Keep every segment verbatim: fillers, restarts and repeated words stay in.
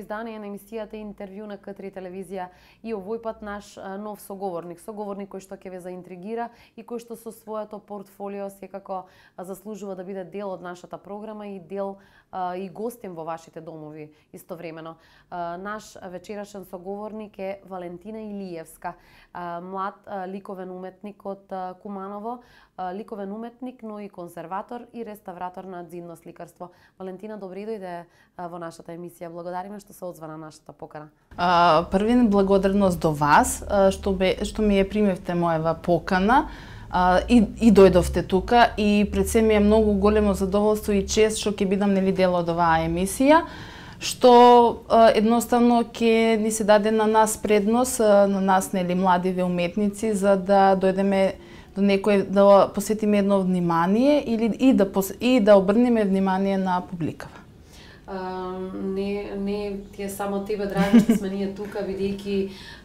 издание на емисијата Интервју на К три телевизија и овој пат наш нов соговорник, соговорник кој што ќе ве заинтригира и кој што со своето портфолио секако заслужува да биде дел од нашата програма и дел и гостин во вашите домови истовремено. Наш вечерашен соговорник е Валентина Илиевска, млад ликовен уметник од Куманово, ликовен уметник, но и конзерватор и реставратор на дзидно сликарство. Валентина, добре дојде во нашата емисија. Благодариме што се одзва на нашата покана. А, првин благодарност до вас што бе што ми ја примевте моева покана. А, и, и дојдовте тука и пред се ми е многу големо задоволство и чест што ќе бидам нели дел од оваа емисија, што а, едноставно ќе ни се даде на нас предност, а, на нас нели младиве уметници, за да дојдеме до некој, да посветиме едно внимание или и да и да обрнеме внимание на публикава. Uh, не, не ти е само тебе драго што сме ние тука, бидејќи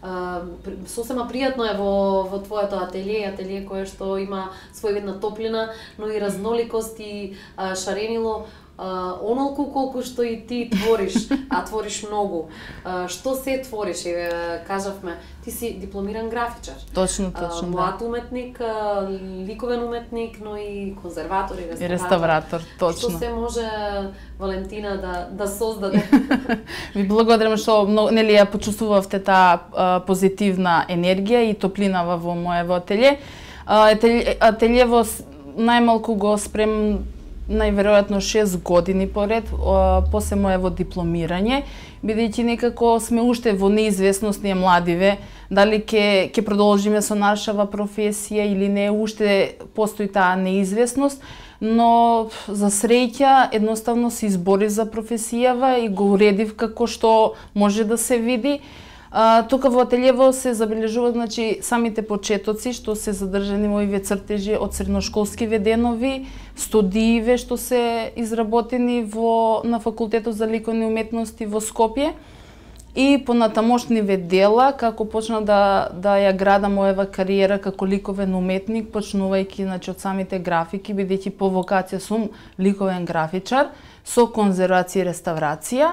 uh, сосема пријатно е во, во твоето ателие, ателие кое што има својвидна топлина, но и разноликост и uh, шаренило, uh, онолку колку што и ти твориш, а твориш многу. Uh, што се твориш, еве кажавме, ти си дипломиран графичар. Точно, точно, uh, млад уметник, uh, ликовен уметник, но и конзерватор и реставратор. И реставратор, точно. Што се може Валентина да да создаде? Ви благодарам што нели ја почувствувавте таа позитивна енергија и топлина во моево ателје. Ателјево најмалку го спрем најверојатно шест години поред после моево дипломирање, бидејќи некако сме уште во неизвестност ние младиве, дали ќе ќе продолжиме со нашава професија или не, уште постои таа неизвестност, но за среќа едноставно се избори за професијава и го уредив како што може да се види. А, тука во ателјево се забележува, значи, самите почетоци што се задржани во овие цртежи од средношколски веденови, студииве што се изработени во на факултетот за ликовни уметности во Скопје и понатамошниве дела како почна да да ја града моева кариера како ликовен уметник, почнувајќи значи од самите графики, бидејќи по вокација сум ликовен графичар со конзервација и реставрација.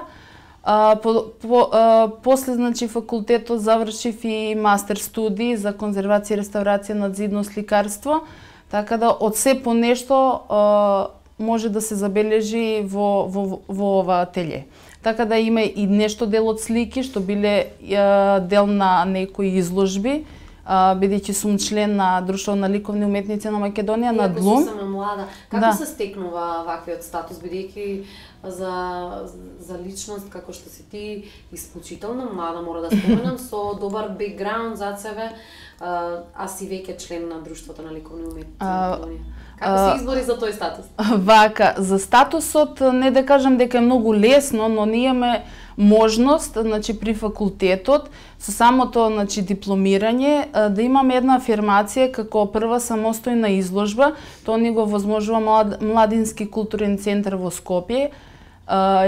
А, по, по, а, после значи факултетот завршив и мастер студии за конзервација и реставрација на дзидно сликарство, така да од се по нешто а, може да се забележи во во во ова ателје. Така да има и нешто дел од слики што биле а, дел на некои изложби, бидејќи сум член на Друштво на ликовни уметници на Македонија, на ДЛУМ. Иако сум млада, како да. се стекнува ваквиот статус, бидејќи за за личност како што си ти, исклучително млада, мора да споменам, со добар бекграунд зад себе, а, а си веќе член на Друштвото на ликовни уметници на Македонија. Како се избори за тој статус? Вака, за статусот не да кажам дека е многу лесно, но ние имаме можност, значи при факултетот со самото значи дипломирање да имаме една афирмација како прва самостојна изложба. Тоа ни го возможува млад, Младински културен центар во Скопје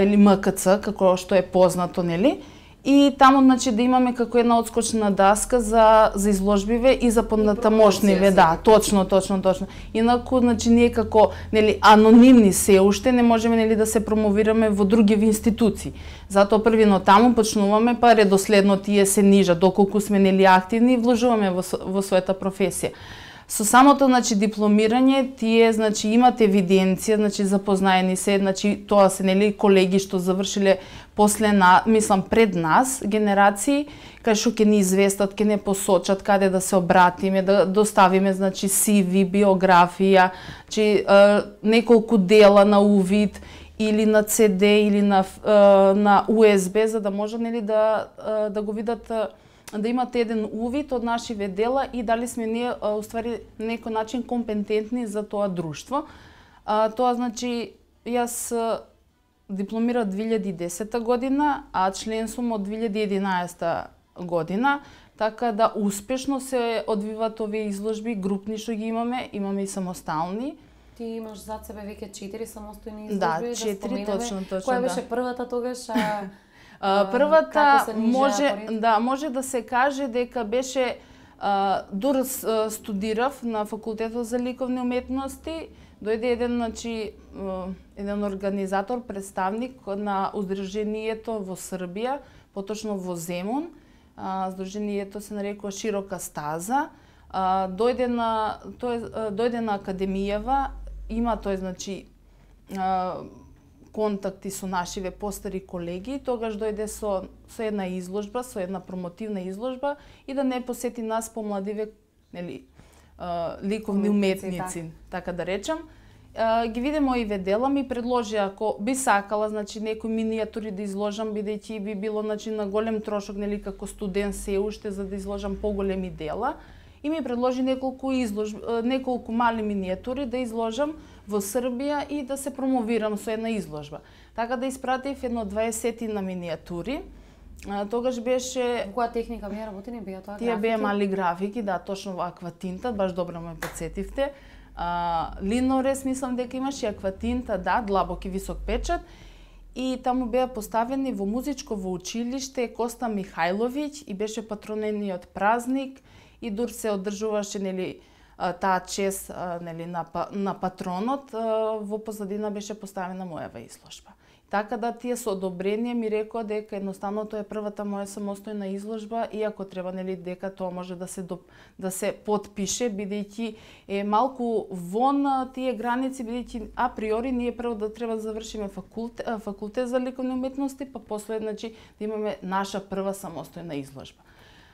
или М К Ц како што е познато, нели? И таму значи да имаме како една одскочна даска за за изложбиве и за понатамошниве, да, точно, точно, точно. Инаку значи ние како нели анонимни се уште не можеме нели да се промовираме во други институции. Затоа првино таму почнуваме, па редоследно тие се нижа доколку сме нели активни и вложуваме во во својата професија. Со самото значи дипломирање тие значи имат евиденција, значи запознаени се, значи тоа се нели колеги што завршиле после на, мислам пред нас генерации, кај што ќе ни известат, ќе не посочат каде да се обратиме, да доставиме значи Си Ви, биографија, значи неколку дела на увид или на Це Де или на на У Ес Би, за да може нели да да го видат, да имате еден увид од нашиве дела и дали сме ние уствари на некој начин компетентни за тоа друштво. А, тоа значи јас дипломирав две илјади и десета година, а член сум од две илјади и единаесета година, така да успешно се одвиваат овие изложби, групни што ги имаме, имаме и самостални. Ти имаш зад себе веќе четири самостојни изложби, да, четири, да точно, точно. Која да. беше првата тогаш? А... Првата може да може да се каже дека беше дур студирав на факултетот за ликовни уметности, дојде еден, значи, еден организатор, представник на Удруженијето во Србија, поточно во Земун. Здруженијето се нарекува Широка стаза. Дојде на тој дојде на академијава, има тој, значи, контакти со нашиве постари колеги, тогаш дојде со со една изложба, со една промотивна изложба и да не посети нас помладиве, нели, ликовни уметници, така да речам. Ги виде моиве дела, ми предложи ако би сакала, значи, некои минијатури да изложам, бидејќи би било, значи, на голем трошок, нели, како студент се уште за да изложам поголеми дела, и ми предложи неколку изложби, неколку мали минијатури да изложам во Србија и да се промовирам со една изложба. Така да испратив едно дваесетина минијатури. Тогаш беше... Во која техника беа работени? Беа тоа графики? Тие беа мали графики, да, точно во акватинта, баш добро ме подсетивте. Линорез, мислам дека имаше акватинта, да, длабок и висок печат. И таму беа поставени во музичково училиште Коста Михајловиќ и беше патронениот празник и дур се одржуваше, нели, таа чест, нели, на, на патронот, во позадина беше поставена мојава изложба. Така да тие со одобрение ми рекоа дека едноставно тоа е првата моја самостојна изложба, иако треба, нели, дека тоа може да се доп... да се потпише, бидејќи е малку вон тие граници, бидејќи априори ние прво да треба да завршиме факултет, факултет за ликовни уметности, па после, значи, да имаме наша прва самостојна изложба.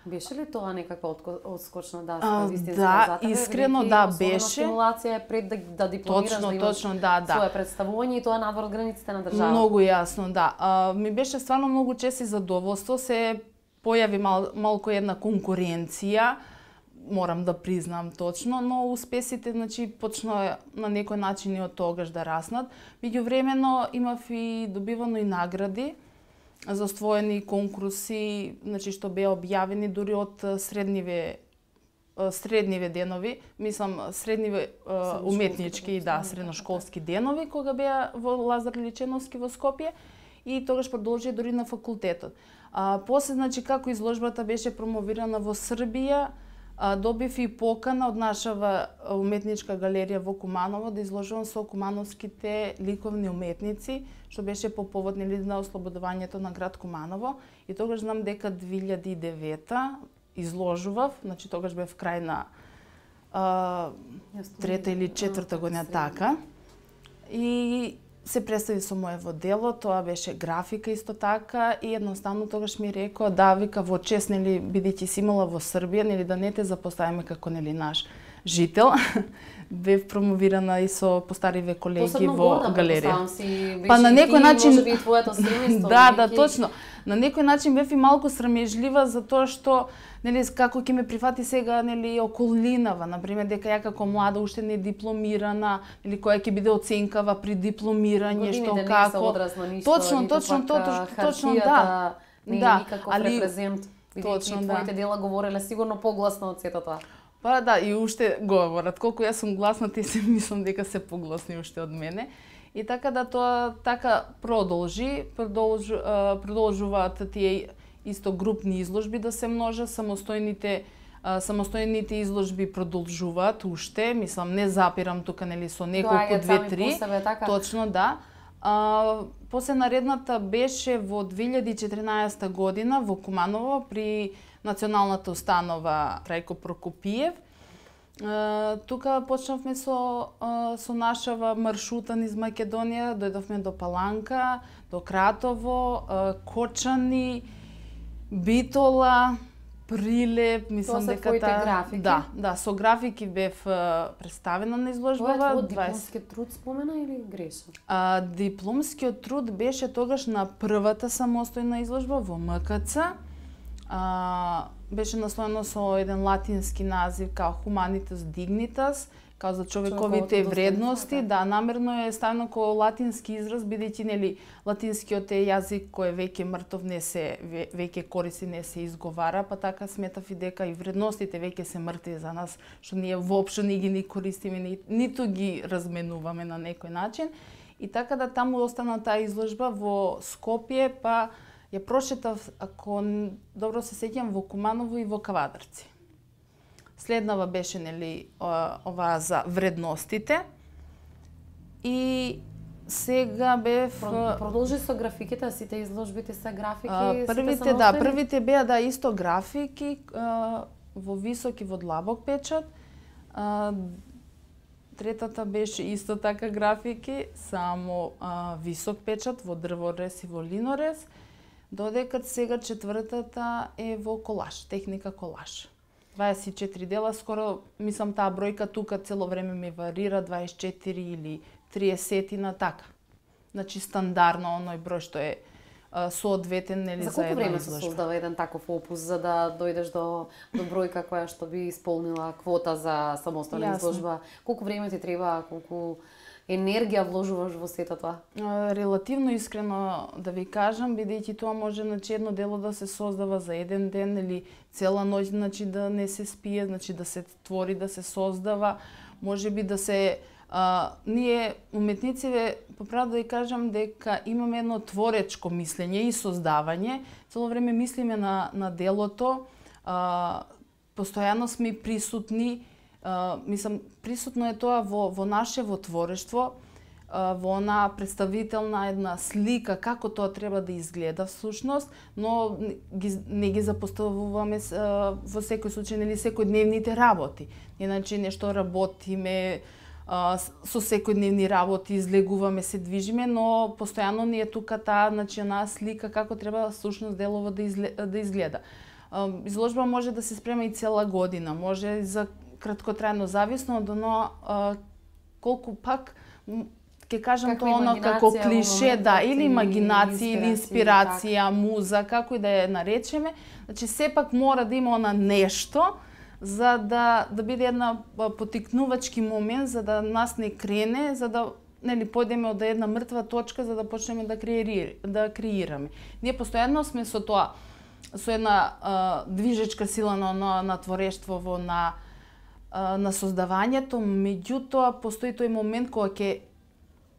Беше ли тоа некаква одскочна даска, вистинска да, за тебе? Искрено да беше. Стимулација е пред да, да дипломираш, точно, да имаш точно, да, да. свое представување и тоа надвор од границите на држава. Многу јасно, да. А, ми беше стварно многу чест и задоволство, се појави мал, малку една конкуренција, морам да признам точно, но успесите, значи, почна на некој начин и од тогаш да раснат. Меѓувремено имав и добивано и награди за оствоени конкурси, значи, што беа објавени дури од средниве средниве денови, мислам средниве уметнички, да, средношколски денови кога беа во Лазар Личеновски во Скопје и тогаш продолжи дури на факултетот. А после, значи, како изложбата беше промовирана во Србија, добив и покана од нашава уметничка галерија во Куманово да изложувам со кумановските ликовни уметници, што беше по повод, нели, на ослободувањето на град Куманово. И тогаш знам дека две илјади и девета изложував, значи тогаш бев крај на а, трета или четврта година, така. И се представи со моево дело, тоа беше графика исто така и едноставно тогаш ми рекоа да, вика, во чест, нели, бидејќи си имала во Србија, нели, да не те запоставиме како, нели, наш жител. Бев промовирана и со постариве колеги во галерија. Си, па на некој начин може би и твоето семејство. Да, да, точно. На некој начин бев и малку срамежлива за тоа што, нели, како ќе ме прифати сега, нели, околинава, на пример, дека ја како млада уште не дипломирана, или која ќе биде оценкава при дипломирање, што како. Точно, точно, точно, точно, да. Не е никаков репрезент. Точно, да. Твоите дела говореле сигурно погласно од сето тоа. Па да, и уште говорат. Колку јас сум гласна, ти се мислам дека се погласни уште од мене. И така да тоа така продолжи, продолжу, продолжуваат тие исто групни изложби да се множат, самостојните самостојните изложби продолжуваат уште, мислам не запирам тука, нели, со неколку две-три. Така. Точно, да. А, после наредната беше во две илјади и четиринаесета година во Куманово при Националната установа Трајко Прокопиев. Uh, тука почнавме со, uh, со нашава маршрута низ Македонија, дојдовме до Паланка, до Кратово, uh, Кочани, Битола, Прилеп, мислам дека тоа се твоите графики? Да, да, со графики бев uh, представена на изложбава. Тоа е твој дипломскиот труд спомена или грешам? Uh, дипломскиот труд беше тогаш на првата самостојна изложба во М К Ц. А, беше насловено со еден латински назив као Humanitas Dignitas, као за човековите вредности, да, намерно е ставено како латински израз, бидејќи, нели, латинскиот е јазик кој е веќе мртов, не се веќе користи, не се изговара, па така сметав и дека и вредностите веќе се мртви за нас, што ние воопшто не ги ни користиме, ни, ниту ги разменуваме на некој начин. И така да таму остана таа изложба во Скопје, па ја прошетав, ако добро се сеќам, во Куманово и во Кавадарци. Следнава беше, нели, оваа за вредностите. и сега бев продолжи со графиките, сите изложбите се графики, а, првите да, првите беа да исто графики а, во висок и во длабок печат. А, третата беше исто така графики, само а, висок печат во дрворез и во линорез, додека сега четвртата е во колаж, техника колаж. дваесет и четири дела, скоро, мислам, таа бројка тука цело време ми варира, дваесет и четири или триесет на така. Значи стандардно оној број што е а, соодветен, нели, за, за една изложба. За колку време се создава еден таков опус за да дојдеш до до бројка која што би исполнила квота за самостојна изложба? Колку време ти треба, колку енергија вложуваш во сето тоа? Релативно искрено да ви кажам, бидејќи тоа може значи едно дело да се создава за еден ден или цела ноќ, значи да не се спие, значи да се твори, да се создава, можеби да се а, ние уметниците, поправо да ви кажам дека имаме едно творечко мислење и создавање, цело време мислиме на на делото, а, постојано сме присутни. Uh, мислам, присутно е тоа во, во нашево творештво, uh, во она представителна една слика, како тоа треба да изгледа всушност, но ги, не ги запоставуваме uh, во секој случај, нели, секојдневните работи. Иначе нешто работиме, uh, со секојдневни работи излегуваме, се движиме, но постојано ни е тука таа, значи, она слика како треба всушност делово да, изле, да изгледа. Uh, изложба може да се спрема и цела година, може за краткотрајно, зависно од оно а, колку пак ќе кажам тоа оно како клише, да, или имагинација, или инспирација, муза, како и да ја наречеме, значи сепак мора да има она нешто за да да биде една потикнувачки момент за да нас не крене, за да нели појдеме од една мртва точка за да почнеме да креираме, да креираме. Ние постојано сме со тоа, со една а, движечка сила на на, на творештво во на на создавањето, меѓутоа постои тој момент кога ќе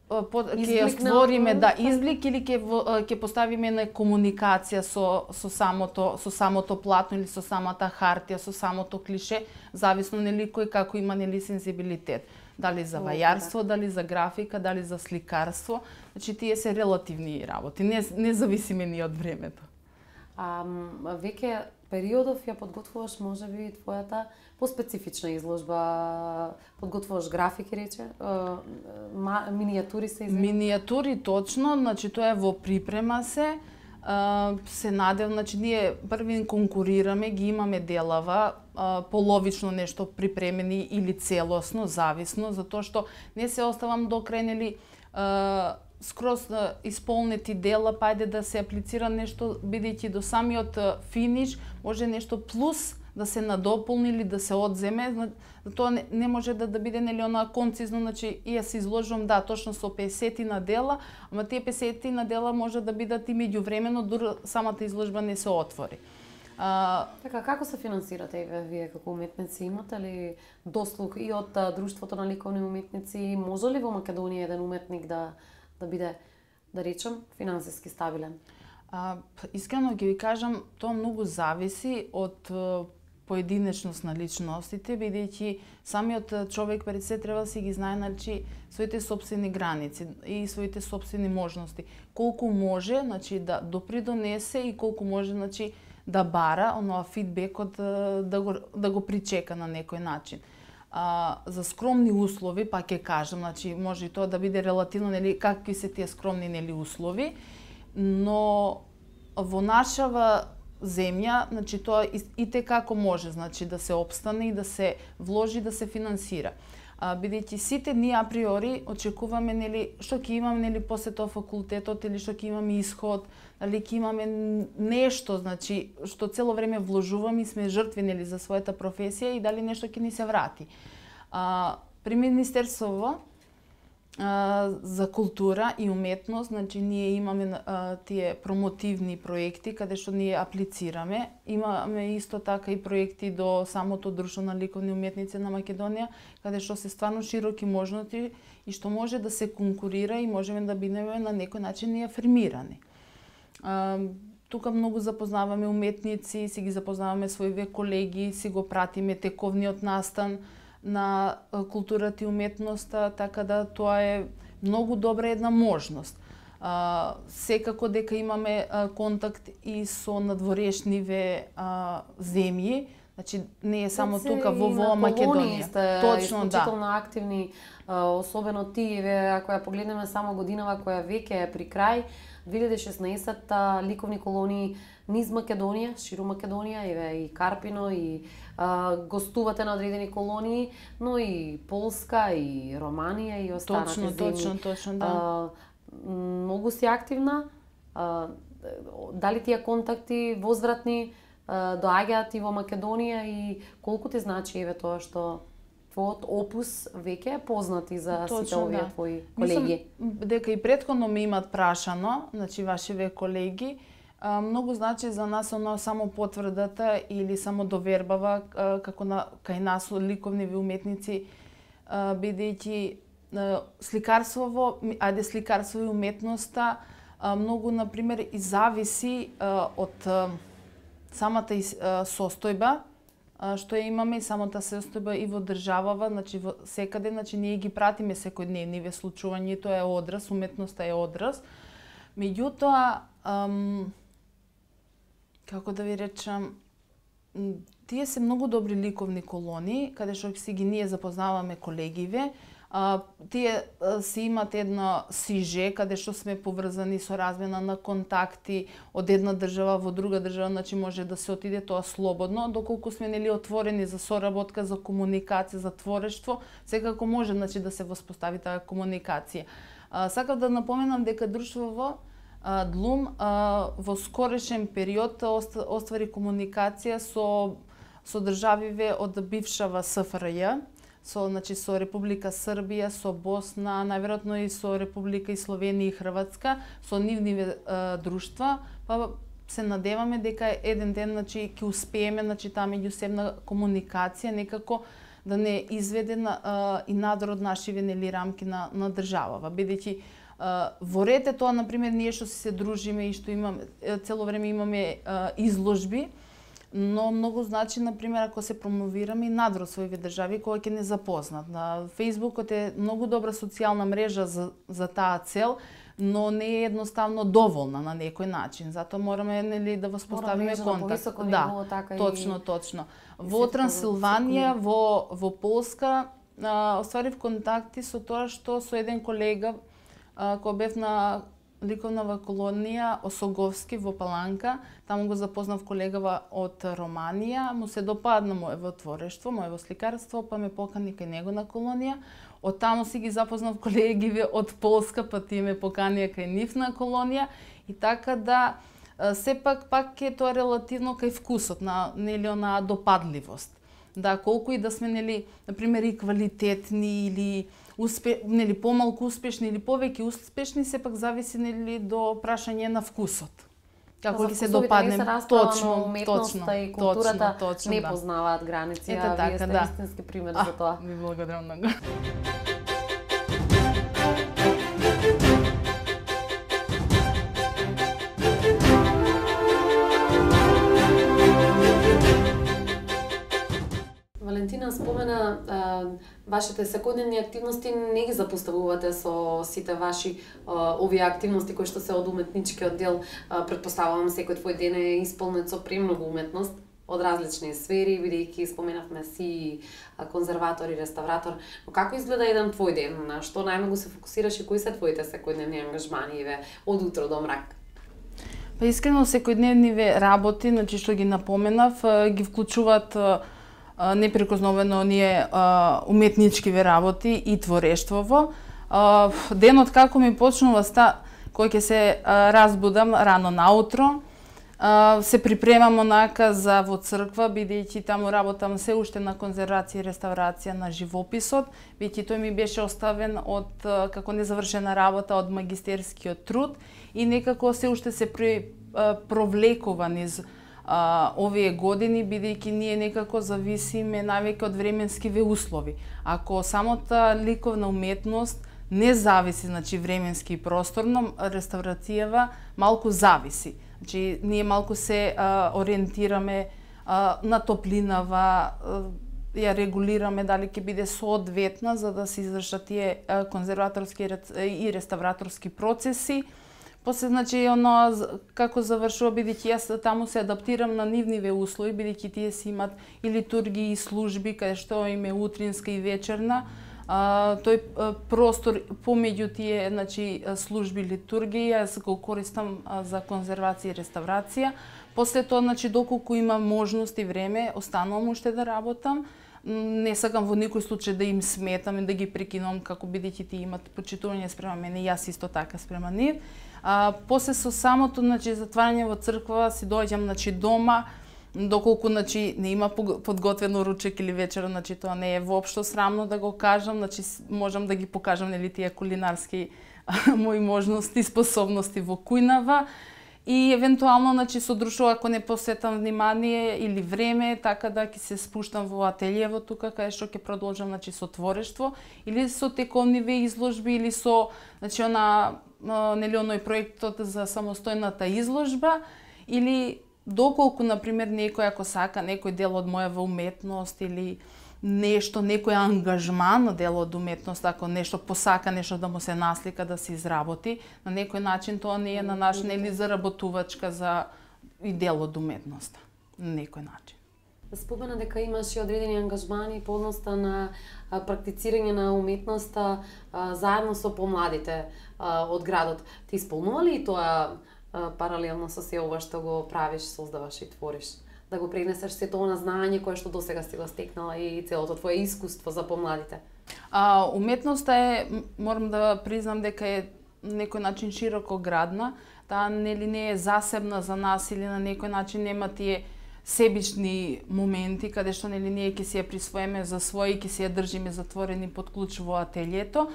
ќе ја створиме да изблик или ќе ќе поставиме на комуникација со со самото со самото платно или со самата хартија, со самото клише, зависно нели кој како има нели сензибилитет. Дали за вајарство, дали за графика, дали за сликарство, значи тие се релативни работи, не не зависиме ни од времето. А веќе периодов ја подготвуваш можеби твојата поспецифична изложба, подготвуваш графики, рече, минијатури се извини? Минијатури точно, значи тоа е во припрема се, се надев, значи ние први конкурираме, ги имаме делава, половично нешто припремени или целосно, зависно, затоа што не се оставам до крај, нели, скроз исполнети дела, пајде да се аплицира нешто, бидејќи до самиот финиш може нешто плюс да се надополни или да се одземе, тоа не, не може да, да биде нели она концизно, значи и ја се изложувам да точно со песет на дела, ама тие песет на дела може да бидат и меѓувремено дури самата изложба не се отвори. А... Така, како се финансирате вие како уметници? Имате ли дослуг и од Друштвото на ликовни уметници? Може ли во Македонија еден уметник да да биде, да речем, финансиски стабилен? А, искрено ги ви кажам, тоа многу зависи од поединечност на личностите, бидејќи самиот човек пред се треба да си ги знае, значи, своите собствени граници и своите собствени можности. Колку може, значи, да допридонесе и колку може, значи, да бара оноа фидбекот да го да го причека на некој начин. А, за скромни услови, па ќе кажам, значи може и тоа да биде релативно, нели, какви се тие скромни, нели, услови, но во нашава земја, значи тоа и, и те како може, значи да се опстане и да се вложи, да се финансира. А, бидејќи сите ние априори очекуваме, нели, што ќе имаме, нели, после тоа факултетот или што ќе имаме исход, дали ќе имаме нешто, значи што цело време вложуваме и сме жртви, нели, за својата професија и дали нешто ќе ни се врати. А, при Министерството а, за култура и уметност, значи ние имаме а, тие промотивни проекти каде што ние аплицираме. Имаме исто така и проекти до самото Друштво на ликовни уметници на Македонија, каде што се стварно широки можности и што може да се конкурира и можеме да бидеме на некој начин и афирмирани. А, тука многу запознаваме уметници, си ги запознаваме своите колеги, си го пратиме тековниот настан на културата и уметноста, така да тоа е многу добра една можност. А, секако дека имаме а, контакт и со надворешниве а, земји, значи не е само тука во во Македонија. Сте точно, исклучително да. активни, особено тие, ако ја погледнеме само годинава која веќе е при крај, две илјади и шеснаесетта ликовни колонии низ Македонија, ширу Македонија, еве и Карпино, и а, гостувате на одредени колонии, но и Полска, и Романија, и останати точно, земји. Точно, точно, да. А, многу си активна. А, дали тие контакти возвратни доаѓаат и во Македонија и колку ти значи еве тоа што твојот опус веќе е познат и за точно, сите овие да. твои колеги? Мислам дека и претходно ме имат прашано, значи вашиве колеги, а, многу значи за нас оно само потврдата или само довербава а, како на кај нас ликовни уметници, бидејќи сликарството, ајде сликарство и уметноста а, многу на пример и зависи а, од а, самата состојба што ја имаме и самата состојба и во државава, значи во секаде, значи ние ги пратиме секојдневниве случувања, тоа е одраз, уметноста е одраз. Меѓутоа, ам, како да ви речам, тие се многу добри ликовни колонии, каде што си ги ние запознаваме колегиве. А, тие а, си имат едно сиже, каде што сме поврзани со размена на контакти од една држава во друга држава, значи може да се отиде тоа слободно, доколку сме нели отворени за соработка, за комуникација, за творештво, секако може значи да се воспостави таа комуникација. А, сакав да напоменам дека друштвото Длум а, во скорешен период оствари комуникација со со државиве од бившава С Ф Р Ј, со значи со Република Србија, со Босна, најверојатно и со Република и Словенија и Хрватска, со нивниве а, друштва, па се надеваме дека еден ден значи ќе успееме значи таа меѓусебна комуникација некако да не изведе на, а, и надвор од нашиве нели рамки на на државава, бидејќи во ред е тоа на пример ние што се дружиме и што имаме цело време имаме а, изложби, но многу значи на пример ако се промовираме и надвор своите држави кој ќе не запознат. На Фејсбукот е многу добра социјална мрежа за за таа цел, но не е едноставно доволна на некој начин. Затоа мораме нели да воспоставиме контакт. Да, така точно, и... точно. Во Трансилванија, во во Полска, а, остварив контакти со тоа што со еден колега а, кој бев на ликовнава колонија Осоговски во Паланка, таму го запознав колегава од Романија, му се допадна моево творештво, моево сликарство, па ме покани кај него на колонија. Од таму си ги запознав колегиве од Полска, па тие ме поканија кај нив на колонија и така да сепак пак е тоа релативно кај вкусот на нели онаа допадливост. Да, колку и да сме нели на пример и квалитетни или успе, нели помалку успешни или повеќе успешни, сепак зависи нели до прашање на вкусот. Како ќе се допаднем точно, точно и културата точно, точно, не да. Познаваат граници, Ете, а така, вие сте да. Истински пример а, за тоа. Ви благодарам многу. Валентина спомена а, вашите секојдневни активности не ги запоставувате со сите ваши а, овие активности кои што се од уметничкиот дел. А, предпоставувам секој твој ден е исполнет со премногу уметност од различни сфери, бидејќи споменавме си конзерватор и реставратор. Но како изгледа еден твој ден? На што најмногу се фокусираш и кои се твоите секојдневни ангажмани еве од утро до мрак? Па искрено секојдневниве работи, значи што ги напоменав, ги вклучуваат непрекосновено оние уметничкиве работи и творештвово. Денот како ми почнува ста, кој ќе се разбудам рано наутро, се припремам онака за во црква, бидејќи таму работам се уште на конзервација и реставрација на живописот, бидејќи тој ми беше оставен од како незавршена работа од магистерскиот труд и некако се уште се провлекува низ Uh, овие години, бидејќи ние некако зависиме највеќе од временскиве услови. Ако самата ликовна уметност не зависи, значи временски и просторно, реставрацијава малку зависи. Значи ние малку се uh, ориентираме uh, на топлинава, uh, ја регулираме дали ќе биде соодветна за да се извршат тие конзерваторски и реставраторски процеси. После, значи, оно како завршува, бидејќи јас таму се адаптирам на нивниве услови, бидејќи тие си имат и литургии и служби, каде што им е утринска и вечерна. А, тој а, простор помеѓу тие, значи, служби литургии, јас го користам а, за конзервација и реставрација. После тоа, значи, доколку има можност и време, останувам уште да работам. Не сакам во никој случај да им сметам и да ги прекинувам, како бидејќи тие имат почитување спрема мене, јас исто така спрема нив. А, после со самото, значи, затварање во црква си доаѓам, значи, дома, доколку, значи, не има подготвено ручек или вечера, значи, тоа не е воопшто срамно да го кажам, значи, можам да ги покажам, нели, тие кулинарски мои можности и способности во кујнава. И евентуално, значи, со друштво, ако не посетам внимание или време, така да ќе се спуштам во ателиево тука, каде што ќе продолжам, значи, со творештво, или со тековниве изложби, или со, значи, она, нели, оној проектот за самостојната изложба, или доколку, например, некој ако сака некој дел од мојава уметност или нешто, некој ангажман дел од уметност, ако нешто посака, нешто да му се наслика, да се изработи, на некој начин тоа не е на наш, нели, заработувачка за и дел од уметноста, на некој начин. Спомена дека имаш и одредени ангажмани по односта на практицирање на уметноста заедно со помладите од градот. Ти исполнува ли тоа паралелно со се ова што го правиш, создаваш и твориш? Да го пренесеш сето она знаење кое што досега си го стекнала и целото твое искуство за помладите? А, уметноста е, морам да признам дека е некој начин широко градна, таа нели не е засебна за нас или на некој начин нема тие себични моменти каде што нели ние ќе си ја присвоиме за свој и ќе си ја држиме затворени под клуч во ателието.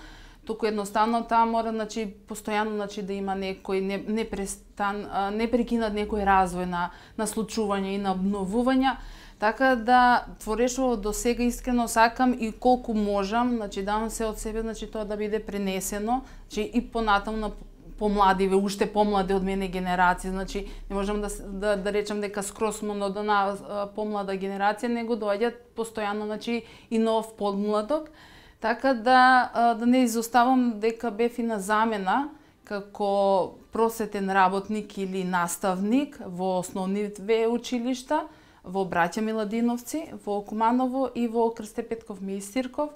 Туку едноставно таа мора, значи, постојано, значи, да има некој не, не престан, не прекинат некој развој на, на случување и на обновување. Така да творештво до сега искрено сакам и колку можам, значи, давам се од себе, значи, тоа да биде пренесено, значи, и понатаму на помладиве, уште помлади од мене генерации, значи не можам да да, да речам дека скроз од она помлада генерација, него доаѓаат постојано, значи, и нов подмладок. Така да, да не изоставам дека бев и на замена како просветен работник или наставник во основниве училишта, во Браќа Миладиновци, во Куманово и во Крсте Петков Меистирков.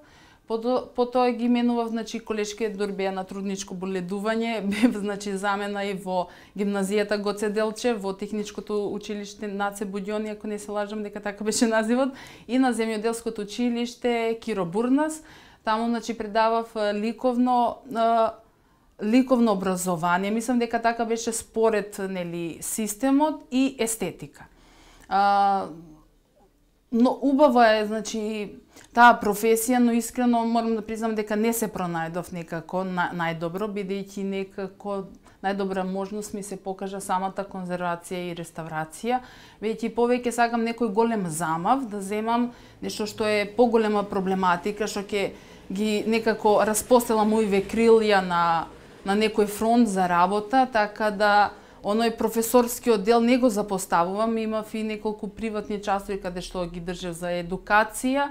Потоа ги менував, значи, колешкиот Дорбеја на трудничко боледување, бев, значи, замена и во гимназијата Гоце Делчев, во техничкото училиште Наце Будјони, ако не се лажам дека така беше називот, и на земјоделското училиште Киро Бурнас. Таму, значи, предавав ликовно ликовно образование. Мислам дека така беше според, нели, системот и естетика. А, но убава е, значи, таа професија, но искрено морам да признам дека не се пронајдов некако на, најдобро, бидејќи некако најдобра можност ми се покажа самата конзервација и реставрација, веќе повеќе сакам некој голем замав да земам нешто што е поголема проблематика, што ќе ги некако распостелам моиве крилја на на некој фронт за работа, така да оној професорскиот дел не го запоставувам, имав и неколку приватни часови каде што ги држев за едукација,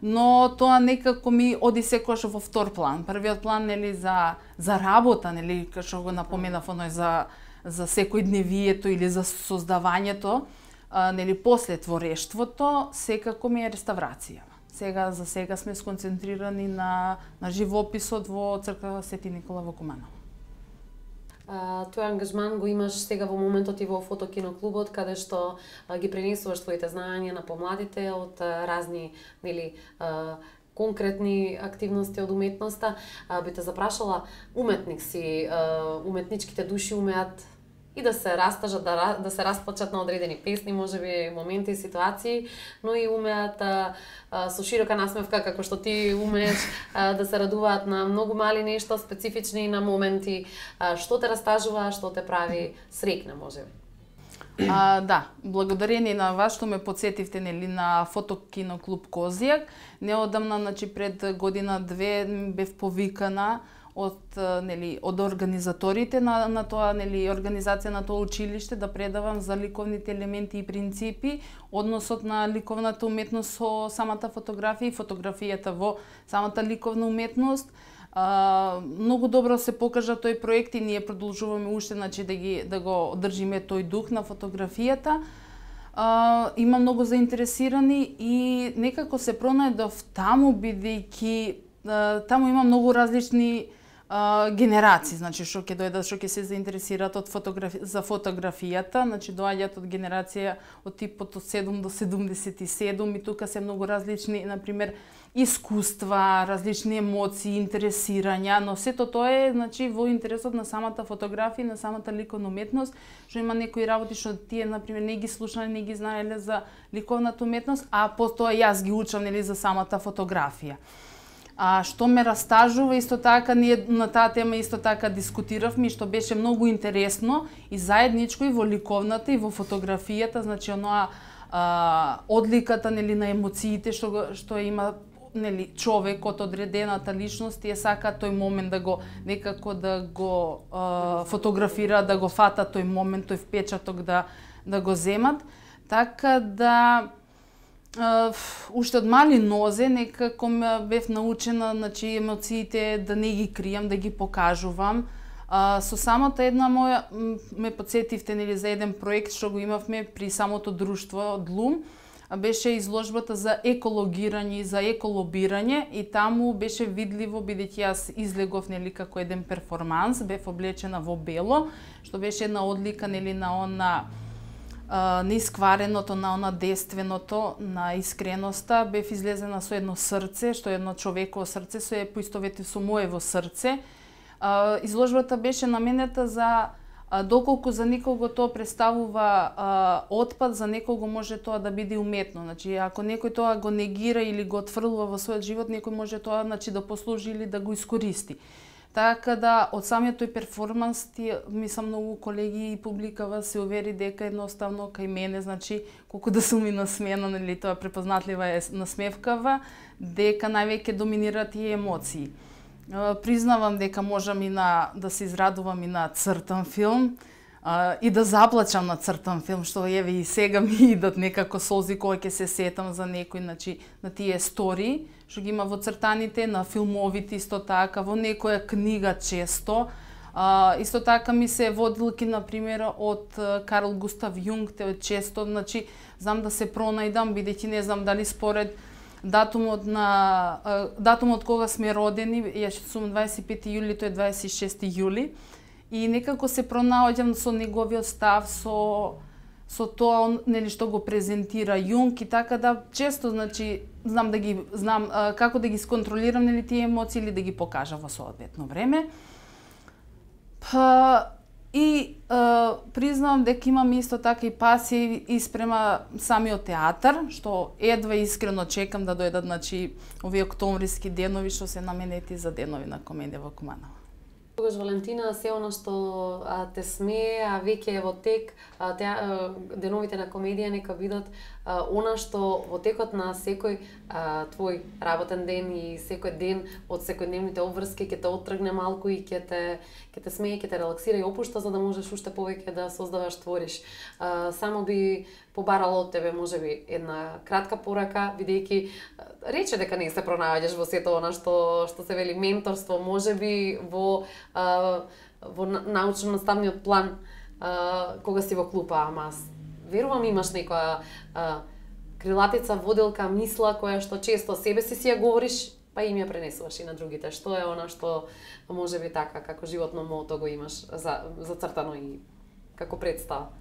но тоа некако ми оди секогаш во втор план. Првиот план, нели, за за работа, нели, како што го напоменав, оној за за секојдневието или за создавањето, а, нели, после творештвото, секако ми е реставрација. Сега за сега сме сконцентрирани на на живописот во црква Свети Никола во Куманово. Uh, тој ангажман го имаш сега во моментот и во фотокиноклубот, каде што uh, ги пренесуваш твоите знаења на помладите од uh, разни, нели, uh, конкретни активности од уметноста. Uh, би те запрашала, уметник си, uh, уметничките души умеат и да се растажат, да, да се расплачат на одредени песни, можеби моменти и ситуации, но и умеат а, а, со широка насмевка, како што ти умееш, а, да се радуваат на многу мали нешто, специфични на моменти, а, што те растажува, што те прави среќна, можеби. А, да, благодарение на вас што ме подсетивте, нели, на фотокиноклуб Козијак. Неодамна, значи, пред година две бев повикана од нели од организаторите на на тоа нели организација на тоа училиште да предавам за ликовните елементи и принципи, односот на ликовната уметност со самата фотографија и фотографијата во самата ликовна уметност. А, многу добро се покажа тој проект и ние продолжуваме уште значи да ги да го одржиме тој дух на фотографијата. А, има многу заинтересирани и некако се пронајдов таму бидејќи таму има многу различни а, генерации, значи што ќе дојдат, што ќе се заинтересираат од фотографи... за фотографијата, значи доаѓаат од генерација од типот од седум до седумдесет и седум и тука се многу различни, на пример, искуства, различни емоции, интересирања, но сето тоа е значи во интересот на самата фотографија, на самата ликовна уметност, што има некои работи што тие на пример не ги слушнале, не ги знаеле за ликовната уметност, а потоа јас ги учам нели за самата фотографија. А што ме растажува, исто така ние на таа тема исто така дискутиравме, што беше многу интересно и заедничко и во ликовната и во фотографијата, значи оноа а, одликата нели на емоциите што што има нели човекот, одредената личност и сака тој момент да го некако да го а, фотографира, да го фата тој момент, тој впечаток да да го земат, така да Uh, уште од мали нозе некако ме бев научена, значи емоциите да не ги кријам, да ги покажувам. Uh, со самата една моја ме потсетивте нели за еден проект што го имавме при самото друштво од Лум, беше изложбата за екологирање и за еколобирање и таму беше видливо бидејќи јас излегов нели како еден перформанс, бев облечена во бело, што беше една одлика нели на она на исквареното, на она действеното, на искреноста, бев излезена со едно срце, што е едно човеково срце, се поистовети со моево срце. Изложбата беше наменета за доколку за некого тоа представува отпад, за некого може тоа да биде уметно. Значи, ако некој тоа го негира или го отфрлува во својот живот, некој може тоа значи да послужи или да го искористи. Така да, од самиот тој перформанс, ти, мислам, многу колеги и публикава се увери дека едноставно кај мене, значи, колку да сум и насмеена, нели, тоа препознатлива е насмевкава, дека највеќе доминираат и емоции. Признавам дека можам и на, да се израдувам и на цртан филм, а, и да заплачам на цртан филм, што еве и сега ми идат некако солзи кога ќе се сетам за некој, значи, на тие истории, што ги има во цртаните, на филмовите исто така, во некоја книга често. А, исто така ми се водилки, на пример, од Карл Густав Јунг, те често, значи, знам да се пронајдам, бидејќи не знам дали според датумот на датумот кога сме родени, јас сум дваесет и пети јули, тој е дваесет и шести јули, и некако се пронаоѓам со неговиот став, со со тоа нели што го презентира Јунг и така да често значи знам да ги знам а, како да ги сконтролирам нели тие емоции или да ги покажам во соодветно време. Па и а, признавам дека имам исто така и пасија и спрема самиот театар, што едва искрено чекам да дојдат значи овие октомвриски денови што се наменети за денови на комедија во Куманово. Тогаш, Валентина, се она што а, те смее, а веќе е во тек, а, те, а, деновите на комедија нека бидат а, она што во текот на секој а, твој работен ден и секој ден од секојдневните обврски ќе те оттргне малку и ќе те ќе те смее, ќе те релаксира и опушта за да можеш уште повеќе да создаваш, твориш. А, само би побарала од тебе можеби една кратка порака, бидејќи рече дека не се пронаоѓаш во сето она што што се вели менторство, можеби во а, во научно-наставниот план а, кога си во клупа, ама верувам имаш некоја а, крилатица, воделка, мисла која што често себе си си ја говориш, па им ја пренесуваш и на другите. Што е она што можеби така како животно мото го имаш за зацртано и како представа?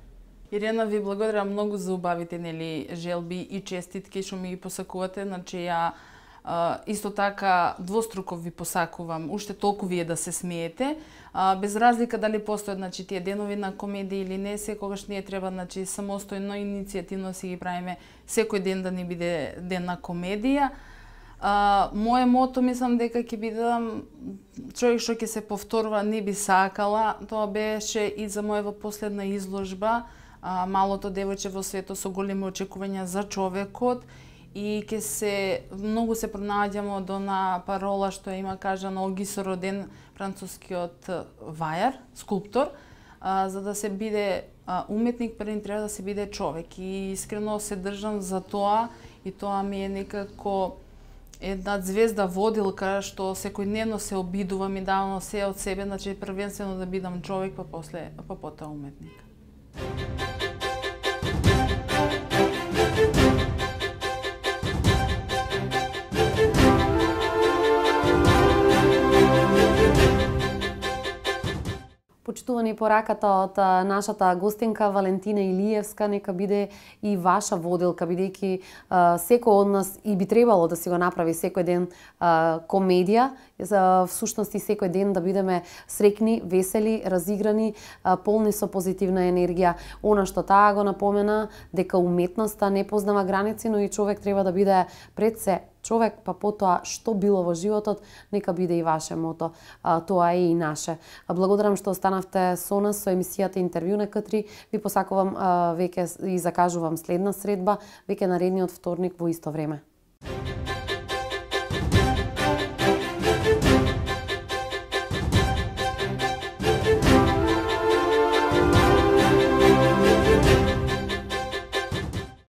Ирена, ви благодарам многу за убавите нели желби и честитки што ми ги посакувате. Значи ја а, исто така двоструко ви посакувам уште толку вие да се смеете. А, без разлика дали постојат значи тие денови на комедија или не, секогаш ние треба значи самостојно иницијативно си ги правиме секој ден да ни биде ден на комедија. А, мое мото мислам дека ќе бидам човек што ќе се повторува, не би сакала. Тоа беше и за мојава последна изложба. А, малото девојче во светот со големи очекувања за човекот и ќе се многу се пронаѓамо до на парола што има кажано Оги со роден францускиот вајар, скулптор, а, за да се биде а, уметник пред треба да се биде човек и искрено се држам за тоа и тоа ми е некако една звезда водилка што секојдневно се обидувам и давам се од себе, значи првенствено да бидам човек, па после па потоа уметник. Почитувани пораката од нашата гостинка Валентина Илиевска нека биде и ваша водилка, бидејќи секој од нас и би требало да си го направи секој ден а, комедија, за всушност и секој ден да бидеме среќни, весели, разиграни, а, полни со позитивна енергија. Она што таа го напомена, дека уметноста не познава граници, но и човек треба да биде пред се човек, па потоа што било во животот, нека биде и ваше мото, а, тоа е и наше. А, благодарам што останавте со нас со емисијата Интервју на К три. Ви посакувам а, веќе и закажувам следна средба, веќе наредниот вторник во исто време.